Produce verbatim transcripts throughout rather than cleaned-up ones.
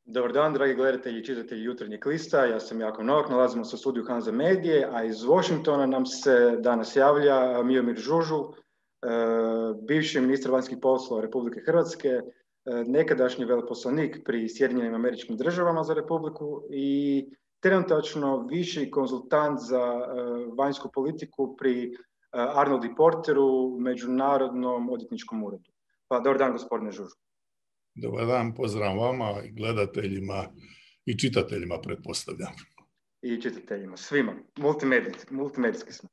Dobar dan, dragi gledatelji i čitatelji Jutarnjeg lista. Ja sam Jakov Novak, nalazimo se u studiju Hanza Medije, a iz Washingtona nam se danas javlja Miomir Žužul, bivši ministar vanjskih poslova Republike Hrvatske, nekadašnji veleposlanik pri Sjedinjenim Američkim Državama za Republiku i trenutačno viši konzultant za vanjsku politiku pri Arnold i Porteru, Međunarodnom odvjetničkom uredu. Pa, dobar dan, gospodine Žužul. Dobar dan, pozdrav vama i gledateljima i čitateljima, pretpostavljam. I čitateljima, svima, multimedijski, multimedijski smo.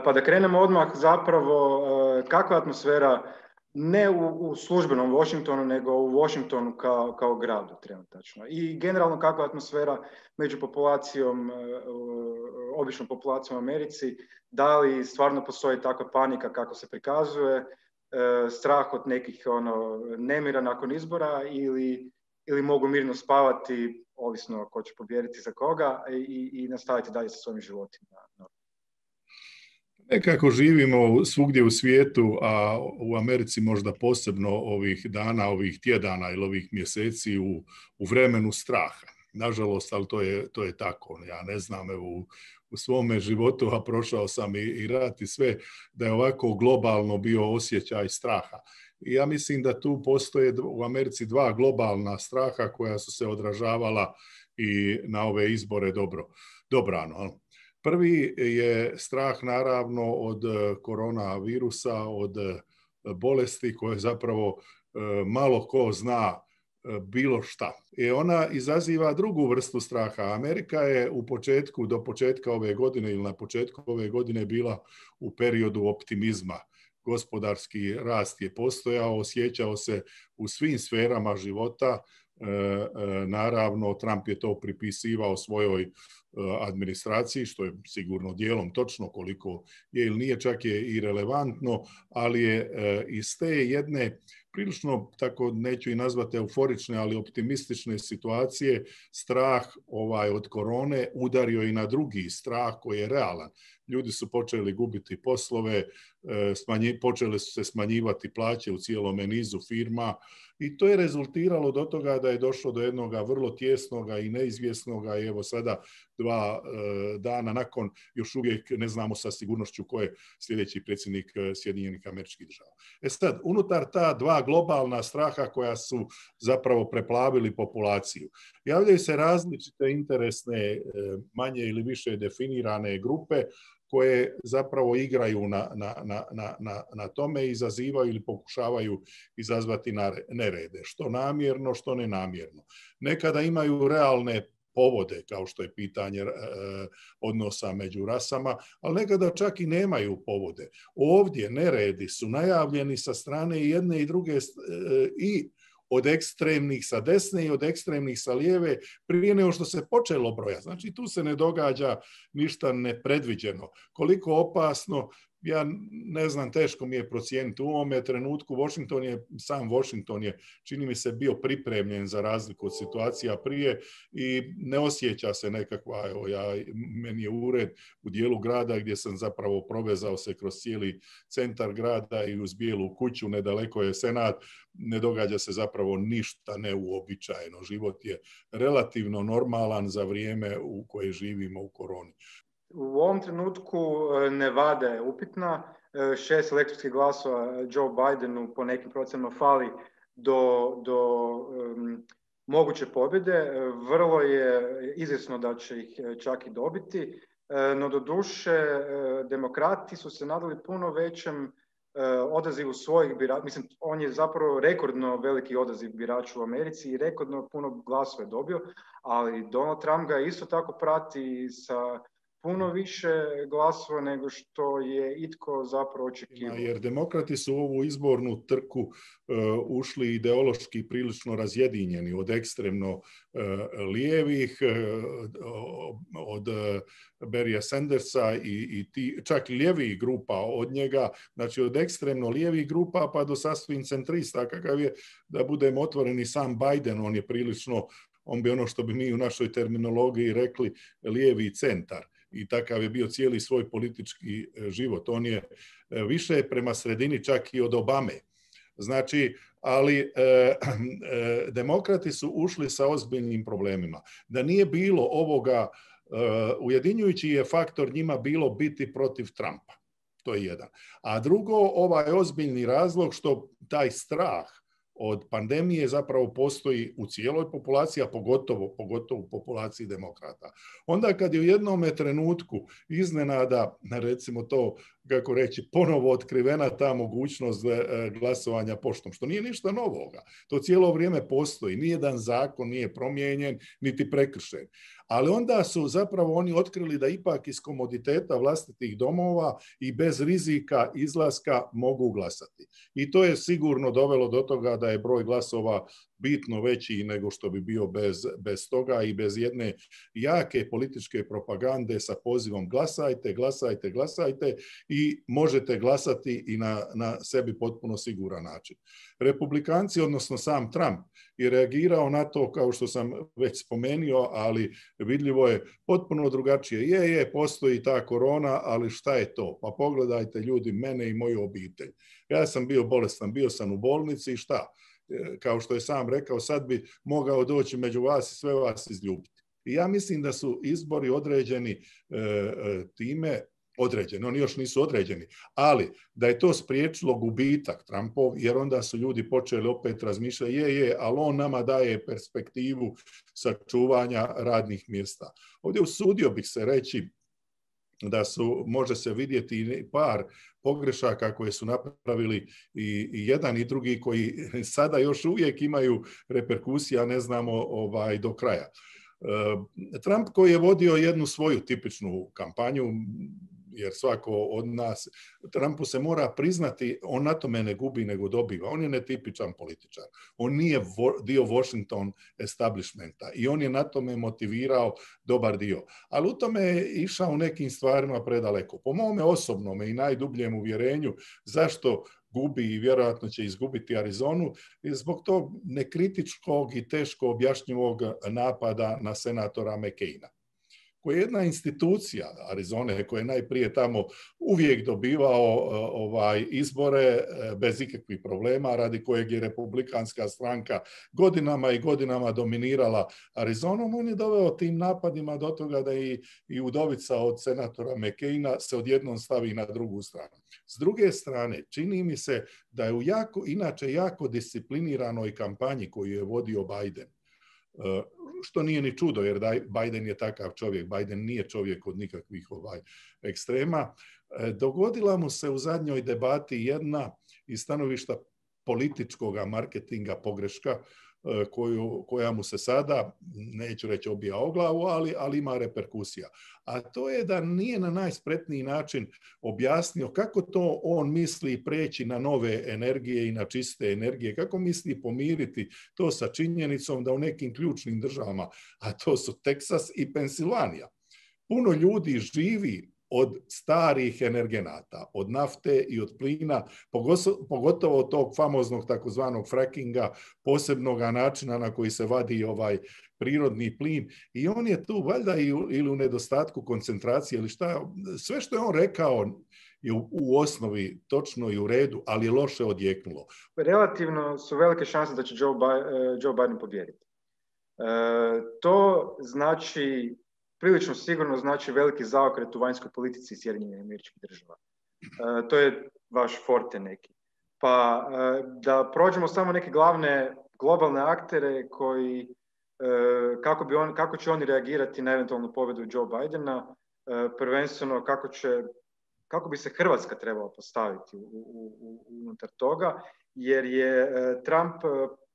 Pa da krenemo odmah, zapravo, kakva je atmosfera ne u, u službenom Washingtonu, nego u Washingtonu kao, kao gradu trenutačno. I generalno kakva je atmosfera među populacijom, običnom populacijom u Americi, da li stvarno postoji takva panika kako se prikazuje, strah od nekih ono, nemira nakon izbora ili, ili mogu mirno spavati, ovisno ko će pobijediti za koga, i, i nastaviti dalje sa svojim životima. Nekako živimo svugdje u svijetu, a u Americi možda posebno ovih dana, ovih tjedana ili ovih mjeseci u, u vremenu straha. Nažalost, ali to je, to je tako. Ja ne znam, evo, u, u svome životu, a prošao sam i, i rat i sve, da je ovako globalno bio osjećaj straha. I ja mislim da tu postoje u Americi dva globalna straha koja su se odražavala i na ove izbore dobro, dobrano. Prvi je strah naravno od koronavirusa, od bolesti koje zapravo malo ko zna bilo šta. I ona izaziva drugu vrstu straha. Amerika je u početku, do početka ove godine ili na početku ove godine bila u periodu optimizma. Gospodarski rast je postojao, osjećao se u svim sferama života. E, e, naravno, Trump je to pripisivao svojoj e, administraciji, što je sigurno dijelom točno, koliko je ili nije, čak je i relevantno, ali je e, iz te jedne prilično, tako neću i nazvati euforične, ali optimistične situacije, strah ovaj od korone udario i na drugi strah koji je realan. Ljudi su počeli gubiti poslove, smanji, počeli su se smanjivati plaće u cijelome nizu firma i to je rezultiralo do toga da je došlo do jednog vrlo tjesnoga i neizvjesnoga i evo sada dva e, dana nakon još uvijek ne znamo sa sigurnošću ko je sljedeći predsjednik Sjedinjenih Američkih Država. E sad, unutar ta dva globalna straha koja su zapravo preplavili populaciju, javljaju se različite interesne, manje ili više definirane grupe koje zapravo igraju na, na, na, na, na tome i izazivaju ili pokušavaju izazvati nerede, što namjerno, što nenamjerno. Nekada imaju realne povode, kao što je pitanje e, odnosa među rasama, ali nekada čak i nemaju povode. Ovdje neredi su najavljeni sa strane i jedne i druge e, i od ekstremnih sa desne i od ekstremnih sa lijeve prije nego što se počelo brojati. Znači tu se ne događa ništa nepredviđeno. Koliko opasno, ja ne znam, teško mi je procijeniti. U ovome trenutku Washington je, sam Washington je, čini mi se, bio pripremljen za razliku od situacija prije i ne osjeća se nekakva, evo ja, meni je ured u dijelu grada gdje sam zapravo provezao se kroz cijeli centar grada i uz Bijelu kuću, nedaleko je Senat, ne događa se zapravo ništa neuobičajeno. Život je relativno normalan za vrijeme u koje živimo u koroni. U ovom trenutku Nevada je upitna, šest elektorskih glasova Joe Bidenu po nekim procenama fali do, do um, moguće pobjede. Vrlo je izvjesno da će ih čak i dobiti, no doduše demokrati su se nadali puno većem odazivu svojih birača. Mislim, on je zapravo rekordno veliki odaziv birača u Americi i rekordno puno glasova je dobio, ali Donald Trump ga isto tako prati sa puno više glasova nego što je itko zapravo očekivao. Jer demokrati su u ovu izbornu trku uh, ušli ideološki prilično razjedinjeni od ekstremno uh, lijevih, uh, od uh, Berrya Sandersa i, i ti, čak lijevih grupa od njega, znači od ekstremno lijevih grupa pa do sasvim centrista, kakav je, da budemo otvoreni, sam Biden, on je prilično, on bi ono što bi mi u našoj terminologiji rekli lijevi centar. I takav je bio cijeli svoj politički život. On je više prema sredini čak i od Obame. Znači, ali e, e, demokrati su ušli sa ozbiljnim problemima. Da nije bilo ovoga, e, ujedinjujući je faktor njima bilo biti protiv Trumpa. To je jedan. A drugo, ovaj ozbiljni razlog što taj strah od pandemije zapravo postoji u cijeloj populaciji, a pogotovo, pogotovo u populaciji demokrata. Onda kad je u jednom trenutku iznenada, recimo to, kako reći, ponovo otkrivena ta mogućnost glasovanja poštom, što nije ništa novoga. To cijelo vrijeme postoji. Nijedan zakon nije promijenjen, niti prekršen. Ali onda su zapravo oni otkrili da ipak iz komoditeta vlastitih domova i bez rizika izlaska mogu glasati. I to je sigurno dovelo do toga da je broj glasova bitno veći nego što bi bio bez, bez toga i bez jedne jake političke propagande sa pozivom glasajte, glasajte, glasajte i možete glasati i na, na sebi potpuno siguran način. Republikanci, odnosno sam Trump, je reagirao na to, kao što sam već spomenuo, ali vidljivo je potpuno drugačije. Je, je, postoji ta korona, ali šta je to? Pa pogledajte ljudi, mene i moju obitelj. Ja sam bio bolestan, bio sam u bolnici i šta? Kao što je sam rekao, sad bi mogao doći među vas i sve vas izljubiti. I ja mislim da su izbori određeni e, time, određeni, oni još nisu određeni, ali da je to spriječilo gubitak Trumpov, jer onda su ljudi počeli opet razmišljati, je, je, ali on nama daje perspektivu sačuvanja radnih mjesta. Ovdje usudio bih se reći da su, može se vidjeti par pogrešaka koje su napravili i, i jedan i drugi koji sada još uvijek imaju reperkusija, ne znamo ovaj, do kraja. Trump koji je vodio jednu svoju tipičnu kampanju, jer svako od nas, Trumpu se mora priznati, on na tome ne gubi nego dobiva. On je netipičan političar. On nije dio Washington establishmenta i on je na tome motivirao dobar dio. Ali u tome je išao u nekim stvarima predaleko. Po mome osobnome i najdubljem uvjerenju zašto gubi i vjerojatno će izgubiti Arizonu je zbog tog nekritičkog i teško objašnjivog napada na senatora McCaina, koja je jedna institucija Arizone koja je najprije tamo uvijek dobivao ovaj, izbore bez ikakvih problema, radi kojeg je republikanska stranka godinama i godinama dominirala Arizonom. On je doveo tim napadima do toga da i, i udovica od senatora McCaina se odjednom stavi na drugu stranu. S druge strane, čini mi se da je u jako, inače jako discipliniranoj kampanji koju je vodio Biden, što nije ni čudo, jer Biden je takav čovjek. Biden nije čovjek od nikakvih ovaj ekstrema. Dogodila mu se u zadnjoj debati jedna iz stanovišta političkog marketinga pogreška, koju, koja mu se sada, neću reći obija o glavu, ali, ali ima reperkusija. A to je da nije na najspretniji način objasnio kako to on misli preći na nove energije i na čiste energije, kako misli pomiriti to sa činjenicom da u nekim ključnim državama, a to su Teksas i Pensilvanija, puno ljudi živi od starih energenata, od nafte i od plina, pogotovo od tog famoznog takozvanog frackinga, posebnog načina na koji se vadi ovaj prirodni plin. I on je tu valjda ili u nedostatku koncentracije ili šta, sve što je on rekao je u, u osnovi točno i u redu, ali je loše odjeknulo. Relativno su velike šanse da će Joe, Joe Biden pobijediti. E, to znači prilično sigurno znači veliki zaokret u vanjskoj politici Sjedinjenih Američkih Država. E, to je vaš forte neki. Pa e, da prođemo samo neke glavne globalne aktere koji, e, kako, bi on, kako će oni reagirati na eventualnu pobjedu Joe Bidena, e, prvenstveno kako, će, kako bi se Hrvatska trebala postaviti u, u, u, unutar toga, jer je e, Trump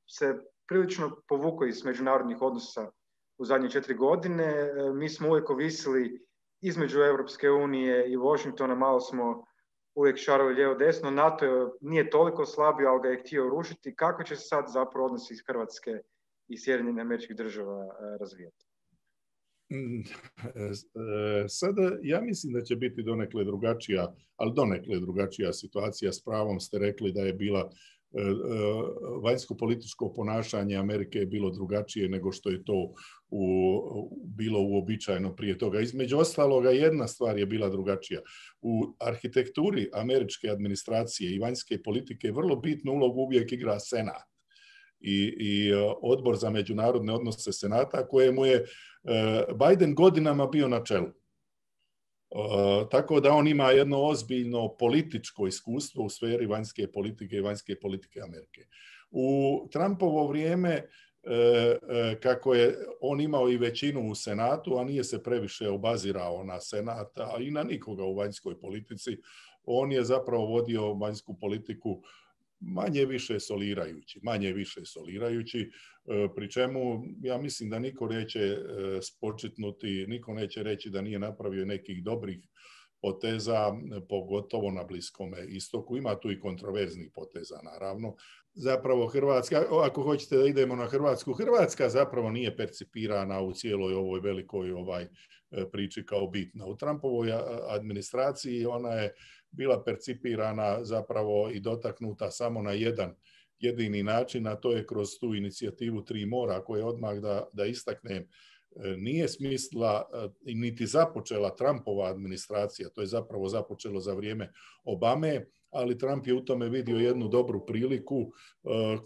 se prilično povukao iz međunarodnih odnosa u zadnje četiri godine. Mi smo uvijek ovisili između Europske unije i Washingtona, malo smo uvijek šarali lijevo desno. NATO nije toliko slabio, ali ga je htio rušiti. Kako će se sad zapravo odnosi iz Hrvatske i Sjedinjenih Američkih Država razvijati? Sada ja mislim da će biti donekle drugačija, ali donekle drugačija situacija. S pravom ste rekli da je bila vanjsko-političko ponašanje Amerike je bilo drugačije nego što je to u, bilo uobičajeno prije toga. Između ostaloga, jedna stvar je bila drugačija. U arhitekturi američke administracije i vanjske politike vrlo bitnu ulogu uvijek igra Senat i, i odbor za međunarodne odnose Senata, kojemu je Biden godinama bio na čelu. Uh, tako da on ima jedno ozbiljno političko iskustvo u sferi vanjske politike i vanjske politike Amerike. U Trumpovo vrijeme, uh, uh, kako je on imao i većinu u Senatu, a nije se previše obazirao na Senat, a i na nikoga u vanjskoj politici, on je zapravo vodio vanjsku politiku manje više solirajući, manje više solirajući, pri čemu ja mislim da niko neće spočitnuti, niko neće reći da nije napravio nekih dobrih poteza, pogotovo na Bliskome istoku. Ima tu i kontroverznih poteza, naravno. Zapravo Hrvatska, ako hoćete da idemo na Hrvatsku, Hrvatska zapravo nije percipirana u cijeloj ovoj velikoj ovaj priči kao bitna. U Trumpovoj administraciji ona je bila percipirana zapravo i dotaknuta samo na jedan jedini način, a to je kroz tu inicijativu Tri mora, koja je odmah da, da istaknem, nije smislila niti započela Trumpova administracija, to je zapravo započelo za vrijeme Obame, ali Trump je u tome vidio jednu dobru priliku uh,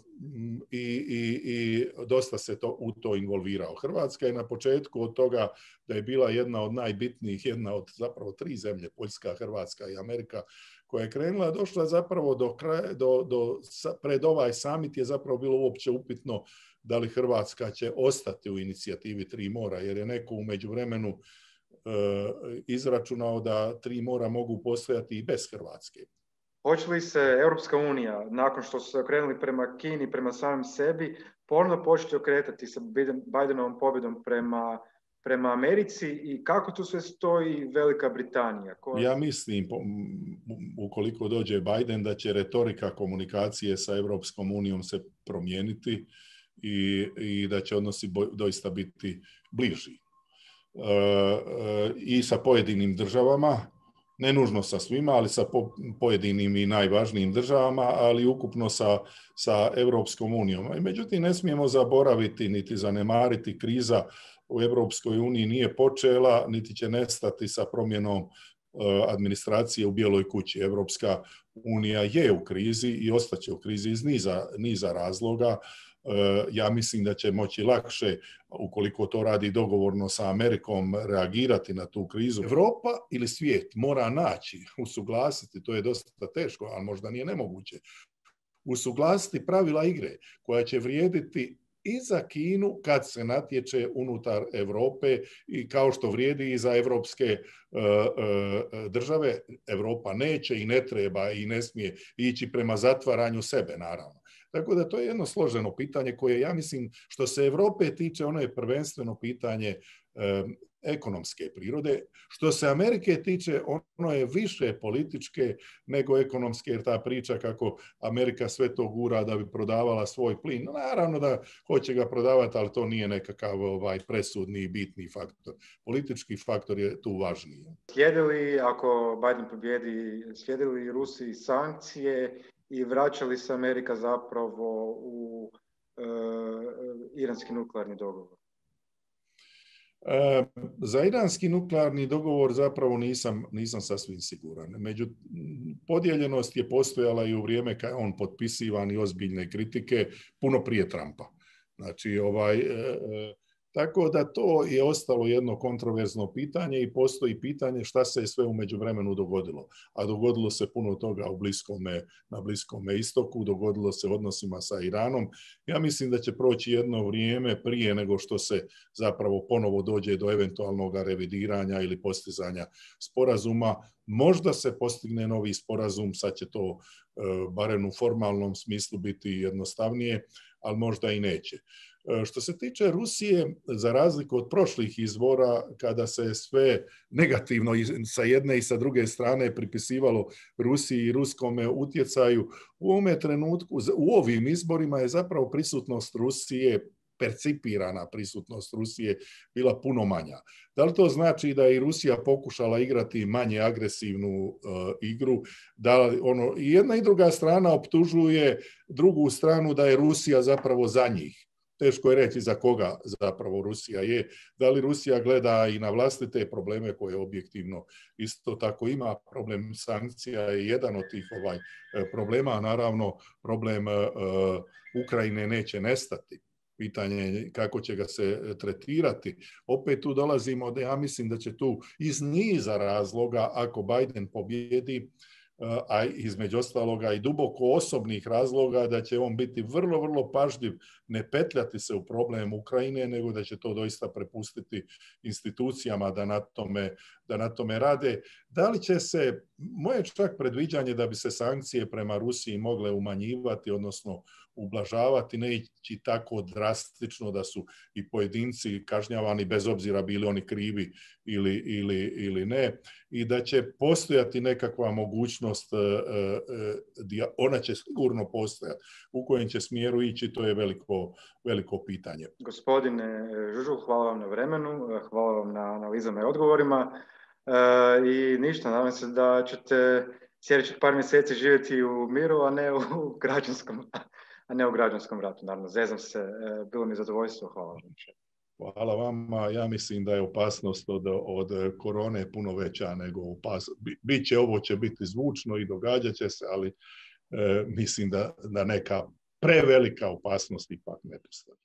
i, i, i dosta se to, u to involvirao. Hrvatska je na početku od toga da je bila jedna od najbitnijih, jedna od zapravo tri zemlje, Poljska, Hrvatska i Amerika, koja je krenula, došla zapravo do kraja, do, do, pred ovaj summit je zapravo bilo uopće upitno da li Hrvatska će ostati u inicijativi Tri mora, jer je neko u međuvremenu uh, izračunao da Tri mora mogu postojati i bez Hrvatske. Hoće li se Europska unija, nakon što su se okrenuli prema Kini, prema samim sebi, ponovno početi okretati sa Bidenovom pobjedom prema, prema Americi i kako tu sve stoji Velika Britanija? Koja... Ja mislim, ukoliko dođe Biden, da će retorika komunikacije sa Europskom unijom se promijeniti i, i da će odnosi doista biti bliži. E, e, I sa pojedinim državama, ne nužno sa svima, ali sa po, pojedinim i najvažnijim državama, ali ukupno sa, sa Europskom unijom. Međutim, ne smijemo zaboraviti niti zanemariti, kriza u Europskoj uniji nije počela, niti će nestati sa promjenom uh, administracije u Bijeloj kući. Europska unija je u krizi i ostaće u krizi iz niza, niza razloga. Ja mislim da će moći lakše, ukoliko to radi dogovorno sa Amerikom, reagirati na tu krizu. Evropa ili svijet mora naći, usuglasiti, to je dosta teško, ali možda nije nemoguće, usuglasiti pravila igre koja će vrijediti i za Kinu kad se natječe unutar Europe i kao što vrijedi i za evropske uh, uh, države. Europa neće i ne treba i ne smije ići prema zatvaranju sebe, naravno. Tako da to je jedno složeno pitanje koje, ja mislim, što se Europe tiče, ono je prvenstveno pitanje um, ekonomske prirode. Što se Amerike tiče, ono je više političke nego ekonomske, jer ta priča kako Amerika sve to gura da bi prodavala svoj plin. No, naravno da hoće ga prodavati, ali to nije nekakav ovaj, presudni i bitni faktor. Politički faktor je tu važniji. Slijede li, ako Biden pobjedi, slijede li Rusiji sankcije i vraća li se Amerika zapravo u e, iranski nuklearni dogovor? E, za iranski nuklearni dogovor zapravo nisam, nisam sasvim siguran. Među, podijeljenost je postojala i u vrijeme kad je on potpisivan i ozbiljne kritike puno prije Trumpa. Znači, ovaj, e, tako da to je ostalo jedno kontroverzno pitanje i postoji pitanje šta se je sve u međuvremenu dogodilo. A dogodilo se puno toga u bliskome, na Bliskome istoku, dogodilo se odnosima sa Iranom. Ja mislim da će proći jedno vrijeme prije nego što se zapravo ponovo dođe do eventualnog revidiranja ili postizanja sporazuma. Možda se postigne novi sporazum, sad će to e, barem u formalnom smislu biti jednostavnije, ali možda i neće. Što se tiče Rusije, za razliku od prošlih izbora, kada se sve negativno sa jedne i sa druge strane pripisivalo Rusiji i ruskome utjecaju, u ovome trenutku, u ovim izborima je zapravo prisutnost Rusije percipirana prisutnost Rusije bila puno manja. Da li to znači da je i Rusija pokušala igrati manje agresivnu uh, igru? Da li ono, i jedna i druga strana optužuje drugu stranu da je Rusija zapravo za njih. Teško je reći za koga zapravo Rusija je. Da li Rusija gleda i na vlastite probleme koje objektivno isto tako ima. Problem sankcija je jedan od tih ovaj problema, a naravno problem uh, Ukrajine neće nestati. Pitanje je kako će ga se tretirati. Opet tu dolazimo da ja mislim da će tu iz niza razloga, ako Biden pobjedi, a između ostaloga i duboko osobnih razloga, da će on biti vrlo, vrlo pažljiv, ne petljati se u problem Ukrajine, nego da će to doista prepustiti institucijama da na tome, da na tome rade. Da li će se, moje čak predviđanje da bi se sankcije prema Rusiji mogle umanjivati, odnosno ublažavati, ne ići tako drastično da su i pojedinci kažnjavani bez obzira bili oni krivi ili, ili, ili ne, i da će postojati nekakva mogućnost, ona će sigurno postojati, u kojem će smjeru ići, to je veliko, veliko pitanje. Gospodine Žužul, hvala vam na vremenu, hvala vam na analizama i odgovorima i ništa, nadam se da ćete sljedećih par mjeseci živjeti u miru, a ne u građanskom a ne u građanskom ratu. Naravno, zezam se, bilo mi zadovoljstvo, hvala vam. Hvala vama, ja mislim da je opasnost od, od korone puno veća nego opasnost. Biće, ovo će biti zvučno i događat će se, ali e, mislim da, da neka prevelika opasnost ipak ne postoji.